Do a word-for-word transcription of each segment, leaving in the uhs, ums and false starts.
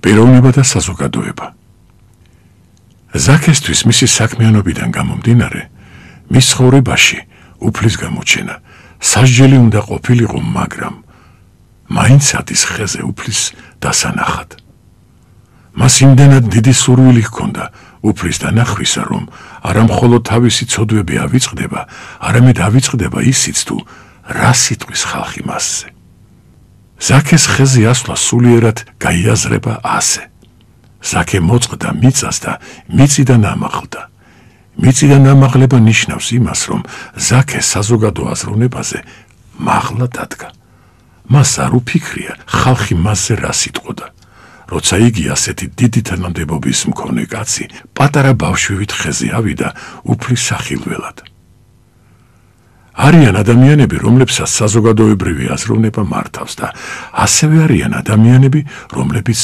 პიროვნება და საზოგადოება. ზაქესთვის მისი საქმიანობიდან გამომდინარე, მის ცხოვრებაში უფლის გამოჩენა სასჯელი უნდა ყოფილიყო, მაგრამ მაინც ადის ხეზე უფლის დასანახად. მას იმდენად დიდი სურვილი ჰქონდა უფლის დანახვისა, რომ არა მხოლოდ თავისი ცოდვები ავიწყდება, არამედ ავიწყდება ისიც თუ რა სიტყვის ხალხი მასზე. ზაქეს ხეზე ასვლა სულიერად გაიაზრება ასე. ზაქე მოწყდა მიწას და მიწიდან ამაღლდა. მიწიდან ამაღლება ნიშნავს იმას, რომ ზაქე საზოგადო აზროვნებაზე მაღლა დადგა. მას არ უფიქრია ხალხი მასზე რა სიტყოდა. როცა იგი ასეთი დიდი თანამდებობის მქონე კაცი პატარა ბავშვივით ხეზე ავიდა უფლის სახილველად. არიან ადამიანები, რომლებსაც საზოგადოებრივი აზროვნება მართავს და ასევე არიან ადამიანები, რომლებიც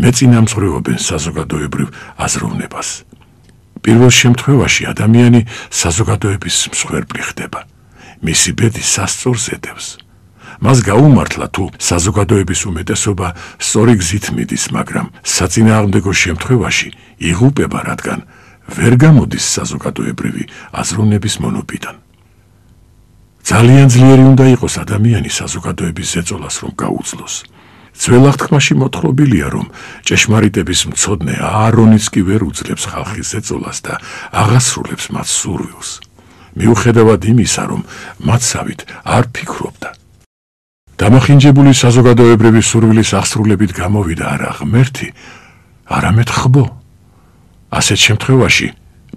მეწინამძღვრეობენ საზოგადოებრივ აზროვნებას. პირველ შემთხვევაში ადამიანი საზოგადოების მსხვერპლი ხდება. მისი ბედი სასწორს ედევს. მას გაუმართლა თუ საზოგადოების უმეტესობა სწორი გზით მიდის, მაგრამ საწინააღმდეგო შემთხვევაში იღუპება, რადგან ვერ გამოდის საზოგადოებრივი აზროვნების მონობიდან. ძალიან ძლიერი უნდა იყოს ადამიანი საზოგადოების ზეწოლას რომ გაუძლოს. ძველ აღთქმაში მოთხრობილია, რომ ჭეშმარიტების მცოდნე აარონიც კი ვერ უძლებს ხალხის ზეწოლას და აღასრულებს მათ სურვილს. მიუხედავად იმისა, რომ მათსავით არ ფიქრობდა. დამახინჯებული საზოგადოებრივი სურვილის აღსრულებით გამოვიდა არა ღმერთი, არამედ ხბო. ასეთ შემთხვევაში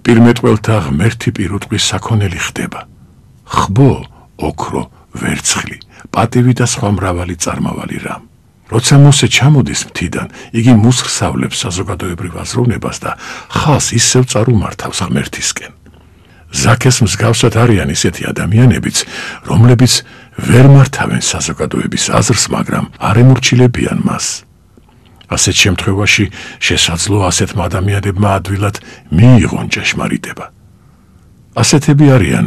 პირმეტყველთა ღმერთი პირუტყვის საქონელი ხდება. ხბო, ოქრო, ვერცხლი, პატივი და სხვა მრავალი წარმავალი რამ. როცა მოსე ჩამოდის მთიდან, იგი მუსხსავლებს საზოგადოებრივ აზროვნებას და ხალხს ისევ წარუმართავს ღმერთისკენ. ზაქეს მსგავსად არიან ისეთი ადამიანებიც, რომლებიც ვერ მართავენ საზოგადოების აზრს, მაგრამ არ ემორჩილებიან მას. ასეთ შემთხვევაში შესაძლოა ასეთმა ადამიანებმა ადვილად მიიღონ ჭეშმარიტება. ასეთები არიან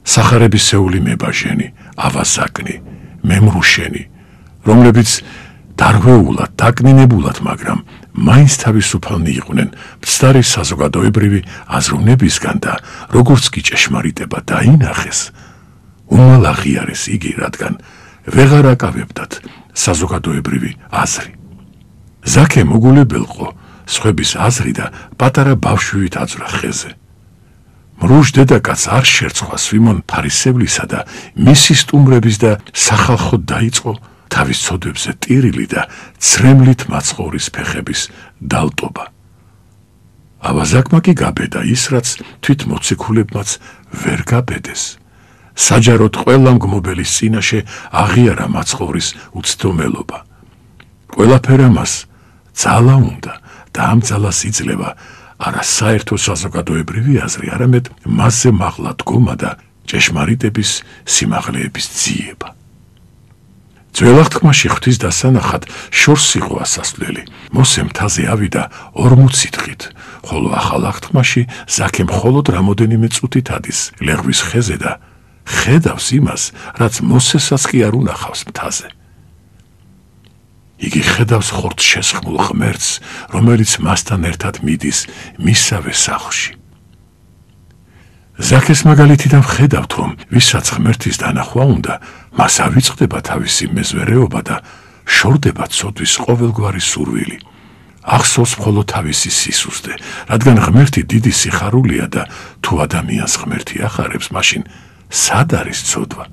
სახარებისეული მებაჟენი, ავაზაკნი, მემრუშენი, რომლებიც დარღვეულად, დაკნინებულად, მაგრამ მაინც თავისუფალნი იყვნენ მცდარი საზოგადოებრივი აზროვნებისგან და როგორც კი ჭეშმარიტება დაინახეს, უმალ აღიარეს იგი, რადგან ვეღარ აკავებდათ საზოგადოებრივი აზრი. ზაქე მოგულებელყო სხვების აზრი და პატარა ბავშვივით აძვრა ხეზე. მრუშ დედაკაც არ შერცხვა სვიმონ ფარისევლისა და მისი სტუმრების და სახალხოდ დაიწყო თავის ცოდვებზე ტირილი და ცრემლით მაცხოვრის ფეხების დალტობა. ავაზაკმა კი გაბედა ის, რაც თვით მოციქულებმაც ვერ გაბედეს. საჯაროდ ყველა მგმობელის წინაშე აღიარა მაცხოვრის უცდომელობა. ყველაფერა მას ძალა უნდა და ამ ძალას იძლევა არა საერთო საზოგადოებრივი აზრი, არამედ მასზე მაღლა დგომა და ჭეშმარიტების სიმაღლეების ძიება. ძველ აღთქმაში ღვთის დასანახად შორს იყო ასასვლელი. მოსე მთაზე ავიდა ორმოცი დღით, ხოლო ახალ აღთქმაში ზაქე მხოლოდ რამოდენიმე წუთით ადის ლეღვის ხეზე და ხედავს იმას, რაც მოსესაც კი არ უნახავს მთაზე. იგი ხედავს ხორცს შესხმულ ღმერთს, რომელიც მასთან ერთად მიდის მისავე სახლში. ზაქეს მაგალითიდან ვხედავთ, რომ ვისაც ღმერთის დანახვა უნდა, მას ავიწყდება თავისი მეზვერეობა და შორდება ცოდვის ყოველგვარი სურვილი. ახსოვს მხოლოდ თავისი სისუსტე, რადგან ღმერთი დიდი სიხარულია და თუ ადამიანს ღმერთი ახარებს, მაშინ სად არის ცოდვა?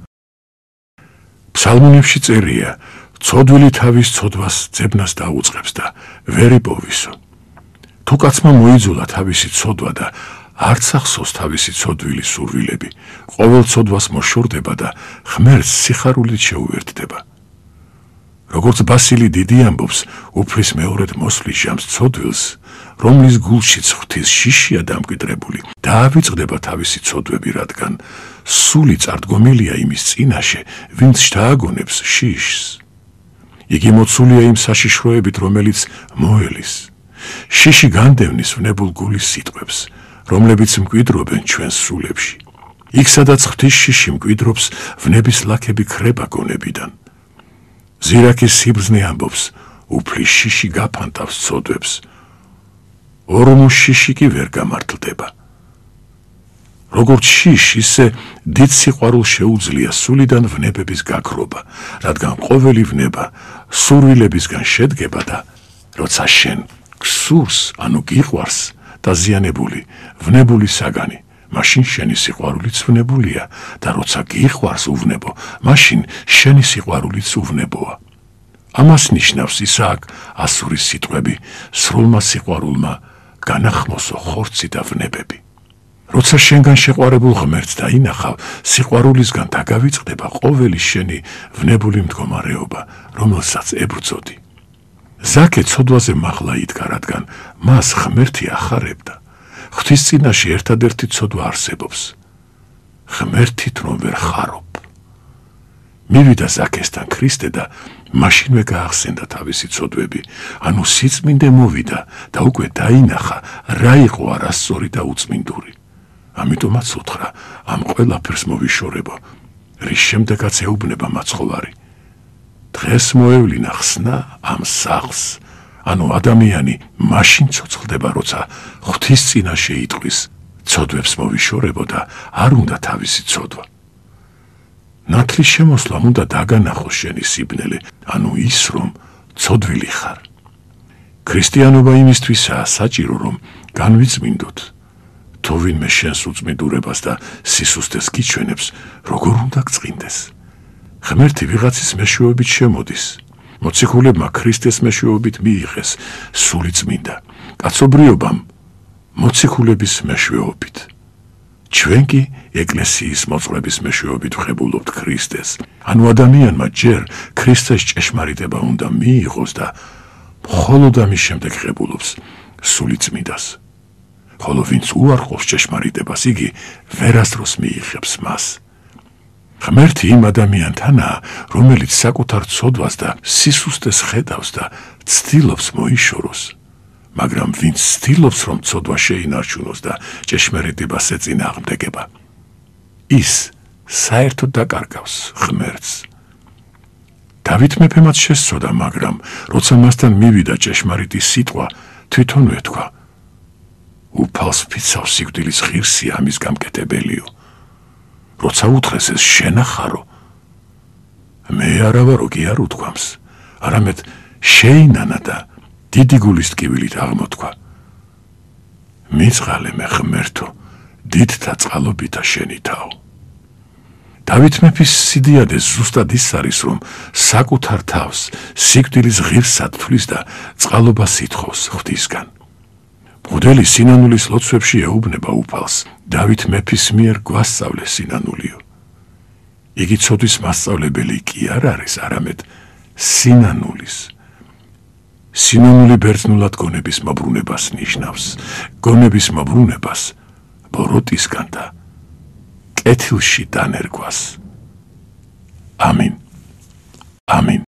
ფსალმუნებში წერია, ცოდვილი თავის ცოდვას ძებნას დაუწყებს და ვერ იპოვისო. თუ კაცმა მოიძულა თავისი ცოდვა და არც ახსოვს თავისი ცოდვილი სურვილები, ყოველ ცოდვას მოშორდება და ღმერთს სიხარულით შეუერთდება. როგორც ბასილი დიდი ამბობს, უფლის მეორედ მოსვლის ჟამს ცოდვილს, რომლის გულშიც ღვთის შიშია დამკვიდრებული, დაავიწყდება თავისი ცოდვები, რადგან სული წარდგომილია იმის წინაშე, ვინც შთააგონებს შიშს. იგი მოცულია იმ საშიშროებით, რომელიც მოელის. შიში განდევნის ვნებულ გულის სიტყვებს, რომლებიც მკვიდრობენ ჩვენს სულებში. იქ, სადაც ღვთის შიში მკვიდრობს, ვნების ლაქები ქრება გონებიდან. ზირაკის სიბრძნე ამბობს, უფლის შიში გაფანტავს ცოდვებს, ორმო შიში კი ვერ გამართლდება. როგორც შიში, ისე დიდ სიყვარულს შეუძლია სულიდან ვნებების გაქრობა, რადგან ყოველი ვნება სურვილებისგან შედგება და როცა შენ გსურს, ანუ გიყვარს დაზიანებული, ვნებული საგანი, მაშინ შენი სიყვარულიც ვნებულია და როცა გიყვარს უვნებო, მაშინ შენი სიყვარულიც უვნებოა. ამას ნიშნავს ისააკ ასურის სიტყვები, სრულმა სიყვარულმა განახმოსო ხორცი და ვნებები. როცა შენგან შეყვარებულ ღმერთს დაინახავ, სიყვარულისგან დაგავიწყდება ყოველი შენი ვნებული მდგომარეობა, რომელსაც ებრძოდი. ზაქე ცოდვაზე მაღლა იდგა, რადგან მას ღმერთი ახარებდა. ღვთის წინაშე ერთადერთი ცოდვა არსებობს. ღმერთით რომ ვერ ხარობ. მივიდა ზაქესთან ქრისტე და მაშინვე გაახსენდა თავისი ცოდვები, ანუ სიწმინდე მოვიდა და უკვე დაინახა, რა იყო არასწორი და უწმინდური. ამიტომაც უთხრა, ამ ყველაფერს მოვიშორებო, რის შემდეგაც ეუბნება მაცხოვარი. დღეს მოევლინა ხსნა ამ სახლს, ანუ ადამიანი მაშინ ცოცხლდება, როცა ღვთის წინაშე იტყვის, ცოდვებს მოვიშორებო და არ უნდა თავისი ცოდვა. ნათლის შემოსვლამ უნდა დაგანახოს შენი სიბნელე, ანუ ის, რომ ცოდვილი ხარ. ქრისტიანობა იმისთვისაა საჭირო, რომ განვიწმინდოთ. თუ ვინმე შენს უწმინდურებას და სისუსტეს გიჩვენებს, როგორ უნდა გწყინდეს. ღმერთი ვიღაცის მეშვეობით შემოდის. მოციქულებმა ქრისტეს მეშვეობით მიიღეს სული წმინდა, კაცობრიობამ მოციქულების მეშვეობით. ჩვენ კი ეკლესიის მოწყვლების მეშვეობით ვხებულობთ ქრისტეს. ანუ ადამიანმა ჯერ ქრისტეს ჭეშმარიტება უნდა მიიღოს და მხოლოდ ამის შემდეგ ღებულობს სული წმინდას. ხოლო ვინც უარყოფს ჭეშმარიტებას, იგი ვერასდროს მიიღებს მას. ღმერთი იმ ადამიანთანაა, რომელიც საკუთარ ცოდვას და სისუსტეს ხედავს და ცდილობს მოიშოროს. მაგრამ ვინც ცდილობს, რომ ცოდვა შეინარჩუნოს და ჭეშმარიტებას ეწინააღმდეგება, ის საერთოდ დაკარგავს ღმერთს. დავით მეფემაც შესწოდა, მაგრამ როცა მასთან მივიდა ჭეშმარიტი სიტყვა, თვითონვე თქვა, უფალს ფიცავს სიკვდილის ღირსი ამის გამკეთებელიო. როცა უთხრეს ეს შენახარო, მე არა ვარო კი არ უთქვამს, არამედ შეინანა და დიდი გულის ტკივილით აღმოთქვა. მიწყალე მე ღმერთო, დიდთა წყალობითა შენი თაო. დავით მეფის სიდიადე ზუსტად ის არის, რომ საკუთარ თავს სიკვდილის ღირსად თვლის და წყალობას ითხოვს ღვთისგან. მღვდელი სინანულის ლოცვებში ეუბნება უფალს, დავით მეფის მიერ გვასწავლე სინანულიო. იგი ცოდვის მასწავლებელი კი არ არის, არამედ სინანულის. სინანული ბერძნულად გონების მოbrunებას ნიშნავს, გონების მოbrunებას ბოროტისგან და კეთილში დანერგვას. ამინ. ამინ.